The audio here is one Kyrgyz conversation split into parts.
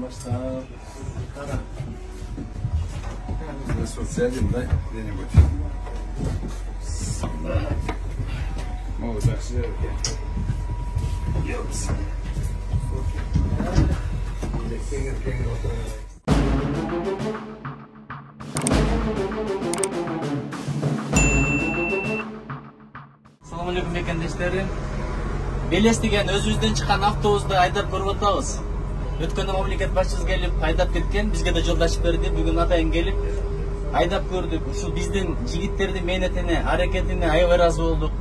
Баштап. Кара. Социализм, да, где-нибудь. Могут так сделать. Ёпс. Assalamu alaikum бекендештери. Белес деген өзүбүздөн чыккан автобусту айдап көрүп атабыз. Өткөндө мамлекет башчыбыз келип айдап кеткен, бизге да жол ачып берди. Бүгүн атайын келип айдап көрдүк. Ушул биздин жигиттердин мээнетине, аракетине аябай ыраазы болдук.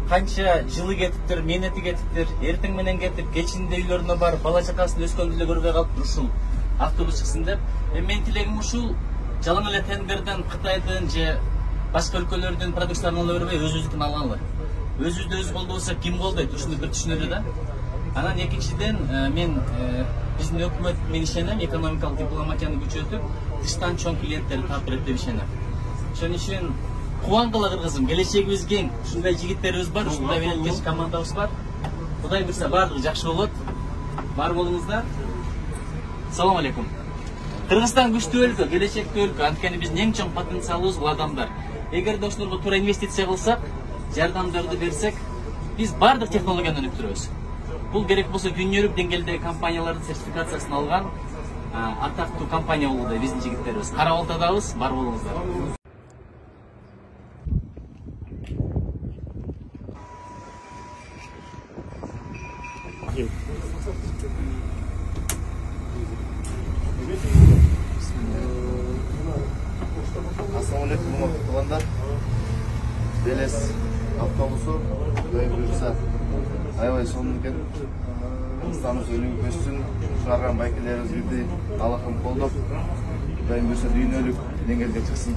Канча жылы кетиптир, мээнети кетиптир. Эртең менен кетип, кечинде үйлөрүнө барып, бала чакасын өскөндү эле көрбөй калыптыр ушул автобус чыксын деп. Менин тилегим ушул, жалаң эле тендерден Кытайдын же башка өлкөлөрдүн продукцияларын ала бербей, өзүбүздүкүн алгалы. Өзүбүздү өзү колдобосок ким колдойт? Ушуну бир түшүнөлү да. Анан экинчиден мен биздин өкмөт мен ишенем, экономикалык дипломатияны күчөтүп, тыштан чоң клиенттерди тартып деп ишенем. Ошон үчүн кубангыла кыргызым, келечегибиз кең. Ушундай жигиттерибиз бар, ушундай белеткеч командабыз бар. Кудай буйрса баардыгы жакшы болот. Бар болуңуздар. Салам алейкум. Кыргызстан күчтүү өлкө, келечектүү өлкө. Анткени биздин эң чоң потенциалыбыз бул адамдар. Эгерде ошолорго туура инвестиция кылсак, жардамдарды берсек, биз бардык технологияны өнүктүрөбүз. Бул керек болсо дүйнөлүк деңгээлдеги компаниялардын сертификациясын алган атактуу компания болууда биздин жигиттерибиз. Карап алтадабыз, бар болуңуздар. Assalamu alaikum туугандар. Белес автобусу Кудай буйрса аябай сонун экен. Кыргызстаныбыз өнүгүп өссүн. Чыгарган байкелерибизди Аллахым колдоп, Кудай буйрса дүйнөлүк деңгээлге чыксын.